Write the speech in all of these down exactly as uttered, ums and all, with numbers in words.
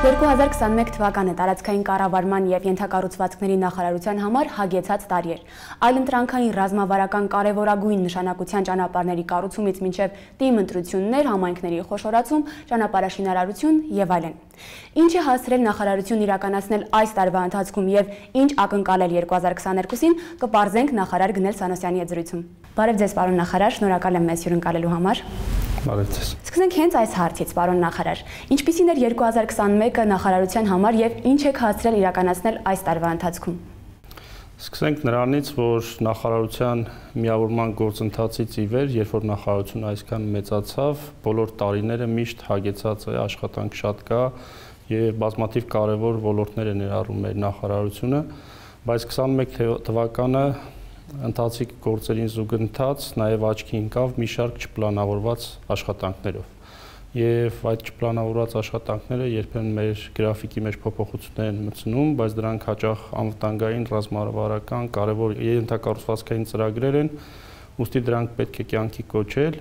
երկու հազար քսաներեք թվականը տարածքային կառավարման եւ ենթակառուցվածքների նախարարության համար հագեցած տարի էր։ Այլընտրանքային ռազմավարական կարևորագույն նշանակության ճանապարհների կառուցումից մինչեւ թիմ ընտրություններ, համայնքների խոշորացում, ճանապարհաշինարարություն եւ այլն։ Ինչ է հասցրել նախարարությունն իրականացնել այս տարվա ընթացքում եւ ինչ ակնկալել երկու հազար քսաներկուսին, կպարզենք նախարար Գնել Սանոսյանի հետ զրույցում։ Բարև ձեզ, պարոն նախարար, շնորհակալ եմ մեզ հյուրընկալելու համար։ Բարև ձեզ։ Սկսենք հենց այս հարցից, պարոն նախարար։ Ինչպիսին էր երկու հազար քսաներկը նախարարության համար եւ ինչ եք հասցրել իրականացնել այս տարվա ընթացքում։ Սկսենք նրանից, որ նախարարության միավորման գործընթացից ի վեր, երբ որ նախարարությունը այսքան մեծացավ, բոլոր տարիները միշտ հագեցած է, աշխատանք շատ կա եւ բազմաթիվ կարեւոր ոլորտներ է ներառում մեր նախարարությունը, բայց քսաներեք թվականը ընթացիկ գործերին զուգընթաց նաև աչքի ընկավ մի շարք չպլանավորված աշխատանքներով։ Եվ այդ չպլանավորված աշխատանքները երբեմն մեր գրաֆիկի մեջ փոփոխություններ են մտցնում, բայց դրանք հաճախ անվտանգային, ռազմավարական, կարևոր ենթակառուցվածքային ծրագրեր են, ուստի դրանք պետք է կյանքի կոչել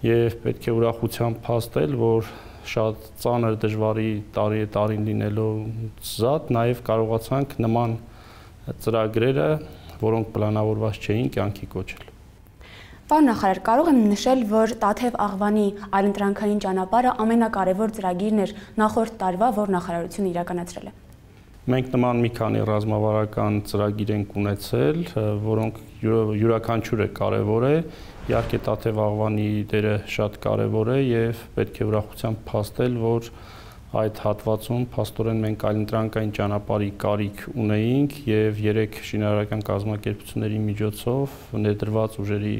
եւ պետք է ուրախությամբ փաստել, որ շատ ծանր դժվարի տարի է տարին լինելով զատ նաև կարողացանք նման ծրագրերը, որոնք պլանավորված չէին, կյանքի կոչել։ Պարոն նախարար, կարող եմ նշել, որ Տաթև Աղվանի այլընտրանքային ճանապարհը ամենակարևոր ծրագիրն էր նախորդ տարվա, որ նախարարությունը իրականացրել է։ Մենք նման մի քանի ռազմավարական ծրագիր ենք ունեցել, որոնք յուրաքանչյուրը կարևոր է, իհարկե Տաթև Աղվանի դերը շատ կարևոր է եւ պետք է ուրախությամբ փաստել, որ այդ հատվածում փաստորեն մենք այլընտրանքային ճանապարհի կարիք ունեինք եւ երեք շինարարական կազմակերպությունների միջոցով ներդրված ուժերի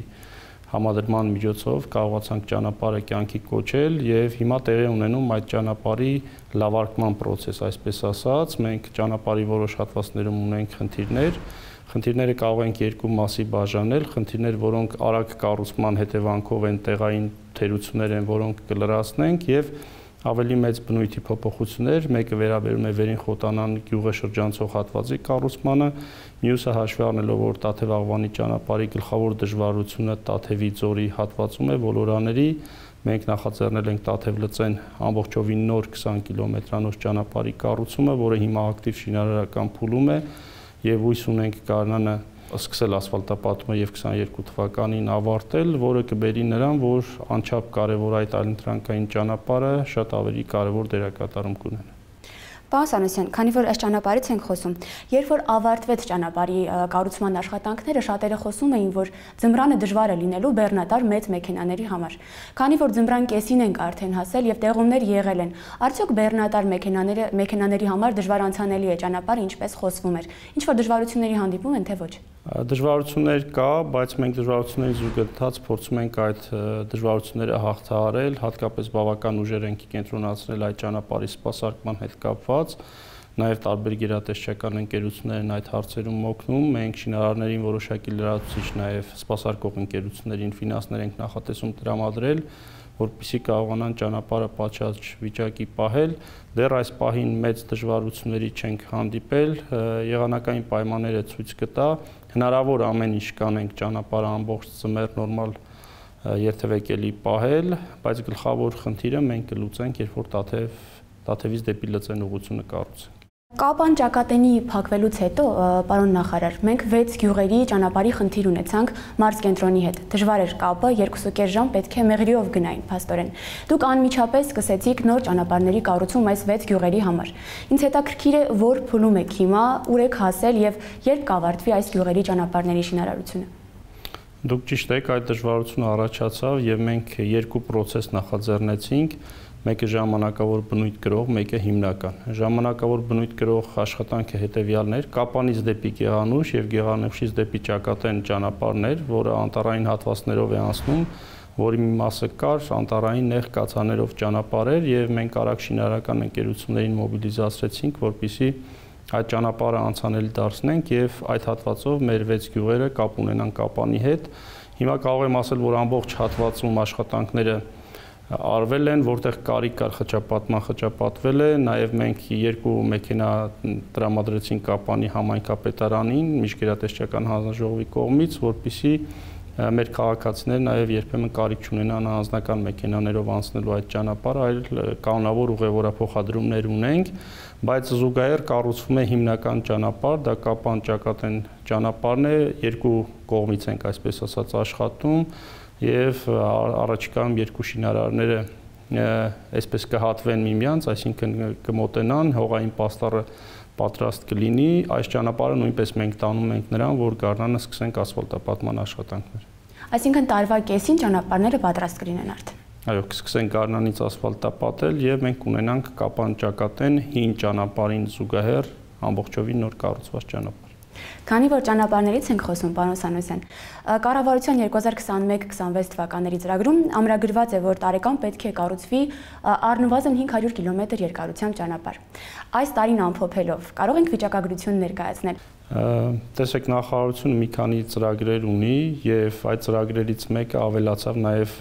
համադրման միջոցով կարողացանք ճանապարհը կյանքի կոչել եւ հիմա տեղի ունենում այդ ճանապարհի լավարկման process, այսպես ասած, մենք ճանապարհի որոշ հատվածներում ունենք խնդիրներ, խնդիրները կարող ենք երկու մասի բաժանել, խնդիրներ, որոնք արագ կառուցման հետևանքով են տեղային թերություններ են, որոնք կլրացնենք եւ ավելի մեծ բնույթի փոփոխություններ, մեկը վերաբերում է Վերին Խոտանան գյուղը շրջանցող հատվածի կառուցմանը, մյուսը հաշվի առնելով, որ Տաթև Աղվանի ճանապարհի գլխավոր դժվարությունը Տաթևի ձորի հատվածում է, ոլորաների, մենք նախաձեռնել ենք Տաթև լծեն ամբողջովին նոր քսան կիլոմետրանոց ճանապարհի կառուցումը, որը հիմա ակտիվ շինարարական փուլում է եւ հույս ունենք Գարնանը սկսել ասֆալտապատումը եւ քսաներկու թվականին ավարտել, որը կբերի նրան, որ անչափ կարևոր այդ այլընտրանքային ճանապարհը շատ ավելի կարևոր դերակատարում կունենա։ Պարոն Սանոսյան, քանի որ այս ճանապարհից ենք խոսում, երբ որ ավարտվեց ճանապարհի կառուցման աշխատանքները, շատերը խոսում էին, որ ձմռանը դժվար է լինելու բեռնատար մեծ մեքենաների համար։ Քանի որ ձմռան կեսին ենք արդեն հասել եւ տեղումներ եղել են, արդյոք բեռնատար մեքենաները մեքենաների համար դժվար անցանելի է ճանապարհը, ինչպես խոսվում էր։ Ինչ որ դժվարությունների հանդիպում են, թե ոչ։ Դժվարություններ կա, բայց մենք դժվարությունների զուգընթաց փորձում ենք այդ դժվարությունները հաղթահարել, հատկապես բավական ուժեր ենք կենտրոնացնել այդ ճանապարհի սպասարկման հետ կապված, նաև տարբեր գերատեսչական ընկերություններ են այդ հարցերում օգնում, մենք շինարարներին որոշակի լրացուցիչ նաև սպասարկող ընկերություններին ֆինանսներ ենք նախատեսում տրամադրել, որպեսզի կարողանան ճանապարհը պատշաճ վիճակի պահել, դեռ այս պահին մեծ դժվարությունների չենք հանդիպել, եղանակային պայմանները ցույց կտա, հնարավոր ամեն ինչ կանենք ճանապարհը ամբողջ ծմեր նորմալ երթևեկելի պահել, բայց գլխավոր խնդիրը մենք կլուծենք, երբ որ Տաթև Տաթևից դեպի Լծեն ուղղությունը կառուցենք։ Կապան ճակատենի փակվելուց հետո, պարոն նախարար, մենք վեց գյուղերի ճանապարհի խնդիր ունեցանք մարզկենտրոնի հետ։ Դժվար էր կապը, երկուսուկես ժամ պետք է մեղրիով գնային, փաստորեն։ Դուք անմիջապես սկսեցիք նոր ճանապարհների կառուցում այս վեց գյուղերի համար։ Ինձ հետաքրքիր է, որ փուլում եք հիմա, ուր եք հասել եւ երբ կավարտվի այս գյուղերի ճանապարհների շինարարությունը։ Դուք ճիշտ եք, այդ դժվարությունը առաջացավ եւ մենք երկու process նախաձեռնեցինք։ Մեկը ժամանակավոր բնույթ կրող, մեկը հիմնական։ Ժամանակավոր բնույթ կրող աշխատանքը հետևյալն էր՝ Կապանից դեպի Գեղանուշ եւ Գեղանուշից դեպի Ճակատեն ճանապարհներ, որը անտառային հատվածներով է անցնում, որի մի մասը կար անտառային նեղ կացաներով ճանապարհեր եւ մենք արագ շինարարական ընկերություններին մոբիլիզացրեցինք, որպեսզի այդ ճանապարհը անցանելի դարձնենք եւ այդ հատվածով մեր վեց գյուղերը կապ ունենան Կապանի հետ։ Հիմա կարող եմ ասել, որ ամբողջ հատվածում աշխատանքները արվել են, որտեղ կարիք կար խճապատման, խճապատվել է, նաև մենք երկու մեքենա տրամադրեցինք Կապանի համայնքապետարանին, միջգերատեսչական հանձնաժողովի կողմից, որպեսզի մեր քաղաքացիները նաև երբեմն կարիք չունենան անձնական մեքենաներով անցնելու այդ ճանապարհը, այլ կանոնավոր ուղևորափոխադրումներ ունենք, բայց զուգահեռ կառուցվում է հիմնական ճանապարհ, դա Կապան-Ճակատեն ճանապարհն է, երկու կողմից ենք այսպես ասած աշխատում եւ առաջիկայում երկու շինարարները այսպես կհատվեն միմյանց, այսինքն կմոտենան, հողային պաստառը պատրաստ կլինի, այս ճանապարհը նույնպես մենք տանում ենք նրան, որ գարնանը սկսենք ասֆալտապատման աշխատանքներ։ Այսինքն տարվա կեսին ճանապարհները պատրաստ կլինեն արդեն։ Այո, կսկսենք գարնանից ասֆալտապատել եւ մենք կունենանք Կապան-Ճակատեն հին ճանապարհին զուգահեռ ամբողջովին նոր կառուցված ճանապարհ։ Քանի որ ճանապարհներից ենք խոսում, պարոն Սանոսյան, կառավարության երկու հազար քսանմեկ քսանվեց թվականների ծրագրում ամրագրված է, որ տարեկան պետք է կառուցվի առնվազն հինգ հարյուր կիլոմետր երկարությամբ ճանապարհ։ Այս տարին ամփոփելով, կարող ենք վիճակագրություն ներկայացնել։ Տեսեք, նախարարությունը մի քանի ծրագրեր ունի եւ այդ ծրագրերից մեկը ավելացավ նաեւ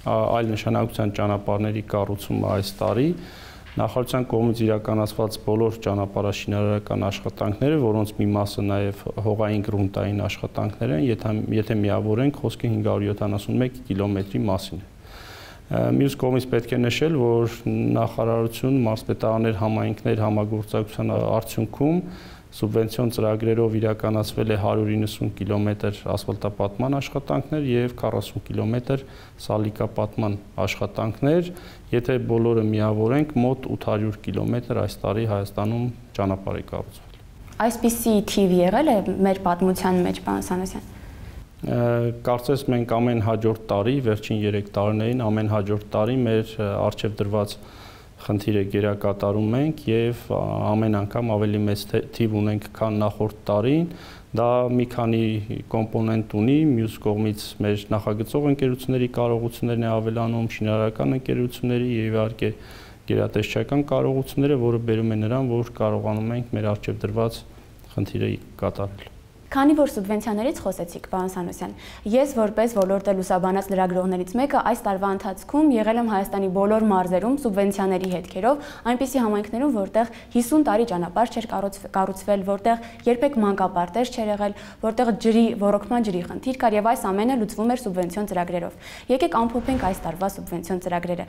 այլ նշանակության ճանապարհների կառուցումը այս տարի։ Նախարարության կողմից իրականացված բոլոր ճանապարհաշինարարական աշխատանքները, որոնց մի մասը նաև հողային գրունտային աշխատանքներ են, եթե, եթե միավորենք, խոսքը հինգ հարյուր յոթանասունմեկ կիլոմետրի մասին է։ Մյուս կողմից պետք է նշել, որ նախարարություն մարզպետարաններ համայնքներ համագործակցության արդյունքում սուբվենցիոն ծրագրերով իրականացվել է հարյուր իննսուն կիլոմետր ասֆալտապատման աշխատանքներ եւ քառասուն կիլոմետր սալիկապատման աշխատանքներ, եթե բոլորը միավորենք, մոտ ութ հարյուր կիլոմետր այս տարի Հայաստանում ճանապարհ է կառուցվել։ Այսպիսի թիվ եղել է մեր պատմության մեջ, պարոն Սանոսյան։ Կարծես մենք ամեն հաջորդ տարի, վերջին երեք տարիներին ամեն հաջորդ տարի մեր առջև դրված խնդիրը գերակատարում ենք եւ ամեն անգամ ավելի մեծ թիվ ունենք, քան նախորդ տարին։ Դա մի քանի կոմպոնենտ ունի, մյուս կողմից մեր նախագծող ընկերությունների կարողություններն է ավելանում, շինարարական ընկերությունների եւ իհարկե գերատեսչական կարողությունները, որը բերում է նրան, որ կարողանում ենք մեր առջև դրված խնդիրը կատարել։ Քանի որ սուբվենցիաներից խոսեցիք, պարոն Սանոսյան, ես որպես ոլորտը լուսաբանած լրագրողներից մեկը այս տարվա ընթացքում եղել եմ Հայաստանի բոլոր մարզերում սուբվենցիաների հետքերով, այնպիսի համայնքներում, որտեղ հիսուն տարի ճանապարհ չէր կառուցվել, որտեղ երբեք մանկապարտեզ չէր եղել, որտեղ ջրի ոռոգման ջրի խնդիր կար եւ այս ամենը լուծվում էր սուբվենցիոն ծրագրերով։ Եկեք ամփոփենք այս տարվա սուբվենցիոն ծրագրերը։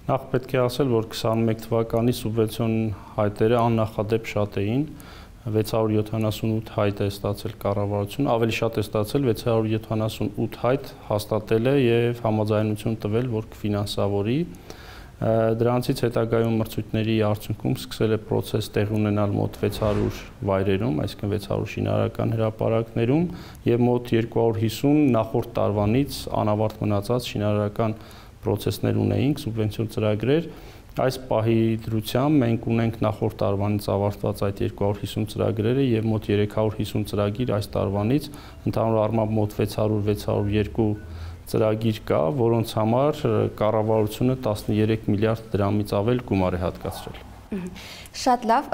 Նախ պետք է ասել, որ քսանմեկ թվականի սուբվենցիոն հայտերը աննախադեպ շատ էին։ վեց հարյուր յոթանասունութ հայտ է ստացել կառավարությունը, ավելի շատ է ստացել վեց հարյուր յոթանասունութ հայտ հաստատել է եւ համաձայնություն տվել, որ կֆինանսավորի։ Դրանցից հետագայում մրցույթների արդյունքում սկսել է process տեղ ունենալ մոտ վեց հարյուր վայրերում, այսինքն վեց հարյուր շինարարական հրապարակներում եւ մոտ երկու հարյուր հիսուն նախորդ տարվանից անավարտ մնացած շինարարական process-ներ ունեինք, սուբվենցիոն ծրագրեր։ Այս պահի դրությամբ մենք ունենք նախորդ տարվանից ավարտված այդ երկու հարյուր հիսուն ծրագրերը եւ մոտ երեք հարյուր հիսուն ծրագիր այս տարվանից, ընդհանուր առմամբ մոտ վեց հարյուր վեց հարյուր երկու ծրագիր կա, որոնց համար կառավարությունը տասներեք միլիարդ դրամից ավել գումար է հատկացրել։ Շատ լավ,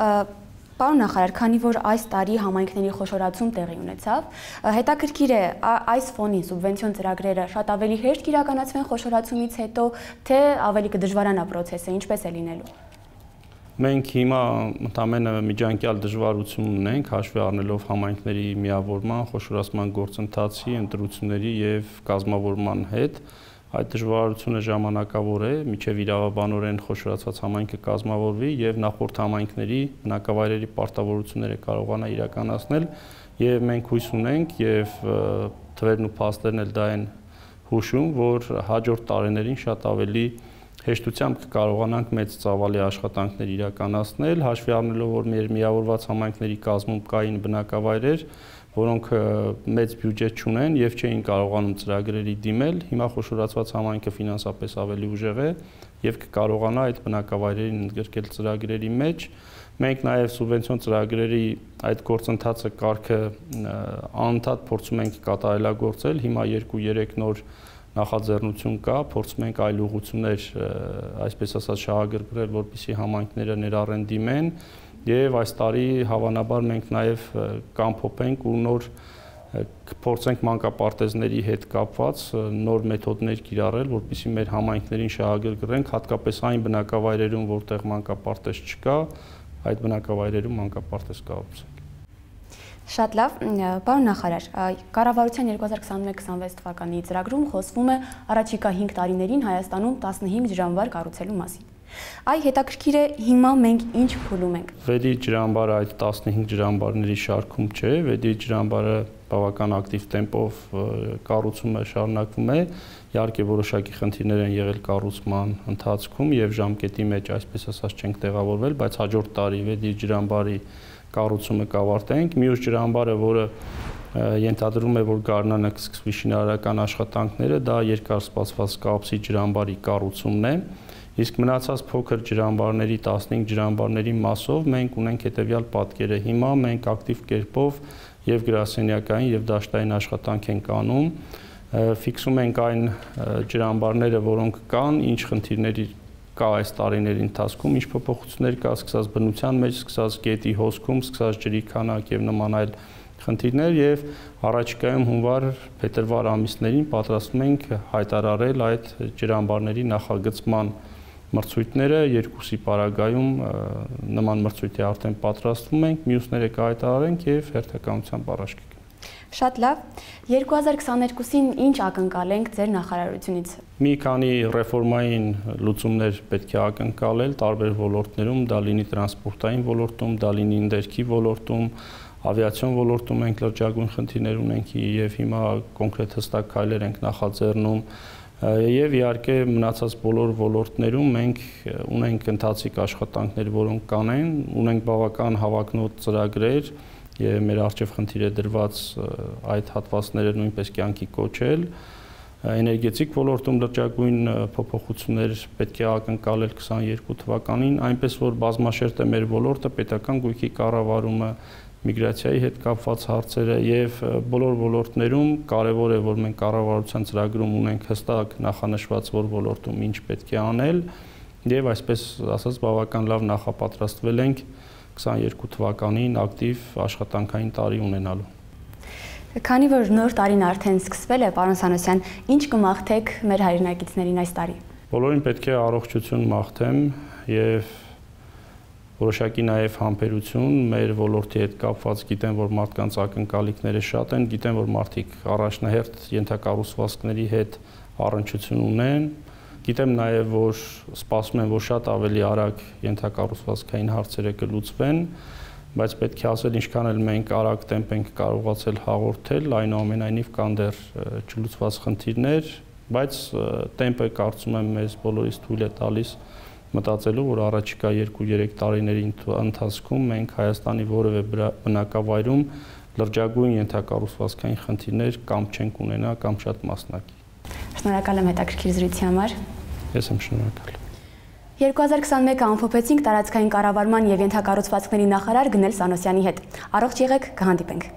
պարոն նախարար, քանի որ այս տարի համայնքների խոշորացում տեղի ունեցավ, հետաքրքիր է այս ֆոնին սուբվենցիոն ծրագրերը շատ ավելի հեշտ կիրականացվեն խոշորացումից հետո, թե ավելի կդժվարանա process-ը, ինչպես է լինելու։ Մենք հիմա ընդամենը միջանկյալ դժվարություն ունենք, հաշվի առնելով համայնքների միավորման, խոշորացման գործընթացի, ընտրությունների եւ կազմավորման հետ։ Այդ դժվարությունը ժամանակավոր է, մինչև իրավաբանորեն խոշորացված համայնքը կազմավորվի եւ նախորդ համայնքների բնակավայրերի պարտավորությունները կարողանա իրականացնել եւ մենք հույս ունենք եւ թվերն ու փաստերն էլ դա են հուշում, որ հաջորդ տարիներին շատ ավելի հեշտությամբ կկարողանանք մեծ ծավալի աշխատանքներ իրականացնել, հաշվի առնելով, որ մեր միավորված համայնքների կազմում կային բնակավայրեր, որոնք մեծ բյուջետ չունեն եւ չէին կարողանում ծրագրերի դիմել, հիմա խոշորացված համայնքը ֆինանսապես ավելի ուժեղ է եւ կկարողանա այդ բնակավայրերին ընդգրկել ծրագրերի մեջ։ Մենք նաեւ սուբվենցիոն ծրագրերի այդ գործընթացը կարգը անընդհատ փորձում ենք կատարելագործել, հիմա երկու երեք նոր նախաձեռնություն կա, փորձում ենք այլ ուղղություններ, այսպես ասած, շահագրգռել, որպեսզի համայնքները ներառեն դիմեն եւ այս տարի հավանաբար մենք նաեւ կամփոփենք ու նոր կփորձենք մանկապարտեզների հետ կապված նոր մեթոդներ կիրառել, որպեսզի մեր համայնքներին շահագրգռենք, հատկապես այն բնակավայրերում, որտեղ մանկապարտեզ չկա, այդ բնակավայրերում մանկապարտեզ կառուցենք։ Շատ լավ, պարոն նախարար, կառավարության երկու հազար քսանմեկ քսանվեց թվականի ծրագրում խոսվում է առաջիկա հինգ տարիներին Հայաստանում տասնհինգ ջրամբար կառուցելու մասին։ Այ հետաքրքիր է հիմա մենք ինչ փուլում ենք։ Վեդի ջրամբարը այդ տասնհինգ ջրամբարների շարքում չէ, Վեդի ջրամբարը բավական ակտիվ տեմպով կառուցումը շարունակվում է։ Իհարկե որոշակի խնդիրներ են եղել կառուցման ընթացքում եւ ժամկետի մեջ, այսպես ասած, չենք տեղավորվել, բայց հաջորդ տարի Վեդի ջրամբարի կառուցումը կավարտենք։ Մյուս ջրամբարը, որը ենթադրում է, որ գարնանը կսկսվի շինարարական աշխատանքները, դա երկար սպասված Կապսի ջրամբարի կառուցումն է։ Իսկ մնացած փոքր ջրամբարների տասնհինգ ջրամբարների մասով մենք ունենք հետևյալ պատկերը։ Հիմա մենք ակտիվ կերպով եւ գրասենյակային եւ դաշտային աշխատանք ենք անում, ֆիքսում ենք այն ջրամբարները, որոնք կան, ինչ խնդիրների կա այս տարիների ընթացքում, ինչ փոփոխություններ կա, սկսած բնության մեջ, սկսած գետի հոսքում, սկսած ջրի քանակ եւ նման այլ խնդիրներ եւ առաջիկայում հունվար փետրվար ամիսներին պատրաստվում ենք հայտարարել այդ ջրամբարների նախագծման մրցույթները, երկուսի պարագայում նման մրցույթի արդեն պատրաստվում ենք, մյուսները կհայտարարենք եւ հերթականությամբ առաջ կգնանք։ Շատ լավ, երկու հազար քսաներկուսին ինչ ակնկալենք ձեր նախարարությունից։ Մի քանի ռեֆորմային լուծումներ պետք է ակնկալել տարբեր ոլորտներում, դա լինի տրանսպորտային ոլորտում, դա լինի ներքի ոլորտում, ավիացիոն ոլորտում ենք լրջագույն խնդիրներ ունենք եւ հիմա կոնկրետ հստակ քայլեր ենք նախաձեռնում եւ իհարկե մնացած բոլոր ոլորտներում մենք ունենք ընթացիկ աշխատանքներ, որոնք կանեն, ունենք բավական հավակնոտ ծրագրեր եւ մեր արժեվ խնդիր է դրված այդ հատվածները նույնպես կյանքի կոչել։ Էներգետիկ ոլորտում լրջագույն փոփոխություններ պետք է ակնկալել քսաներկու թվականին, այնպես որ բազմաշերտ է մեր ոլորտը, պետական գույքի կառավարումը, միգրացիայի հետ կապված հարցերը եւ բոլոր ոլորտներում կարեւոր է, որ մենք կառավարության ծրագրում ունենք հստակ նախանշված, որ ոլորտում ինչ պետք է անել եւ այսպես ասած բավական լավ նախապատրաստվել ենք քսաներկու թվականին ակտիվ աշխատանքային տարի ունենալու։ Քանի որ նոր տարին արդեն սկսվել է, պարոն Սանոսյան, ինչ կմաղթեք մեր հայրենակիցներին այս տարի։ Բոլորին պետք է առողջություն մաղթեմ եւ որոշակի նաեւ համբերություն մեր ոլորտի հետ կապված, գիտեմ, որ մարդկանց ակնկալիքները շատ են, գիտեմ, որ մարդիկ առաջնահերթ ենթակառուցվածքների հետ առնչություն ունեն, գիտեմ նաեւ, որ սպասում են, որ շատ ավելի արագ ենթակառուցվածքային հարցերը կլուծվեն, բայց պետք է ասել, ինչքան էլ մենք արագ տեմպ ենք կարողացել հաղորդել, այնուամենայնիվ կան դեռ չլուծված խնդիրներ, բայց տեմպը կարծում եմ մեզ բոլորիս թույլ է տալիս մտածելու, որ առաջիկա երկու-երեք տարիների ընթացքում մենք Հայաստանի որևէ բնակավայրում լրջագույն ենթակառուցվածքային խնդիրներ կամ չենք ունենա, կամ շատ մասնակի։ Շնորհակալ եմ հետաքրքիր զրույցի համար։ Ես եմ շնորհակալ։ երկու հազար քսանմեկը ամփոփեցինք տարածքային կառավարման եւ ենթակառուցվածքների նախարար Գնել Սանոսյանի հետ։ Առողջ եղեք, կհանդիպենք։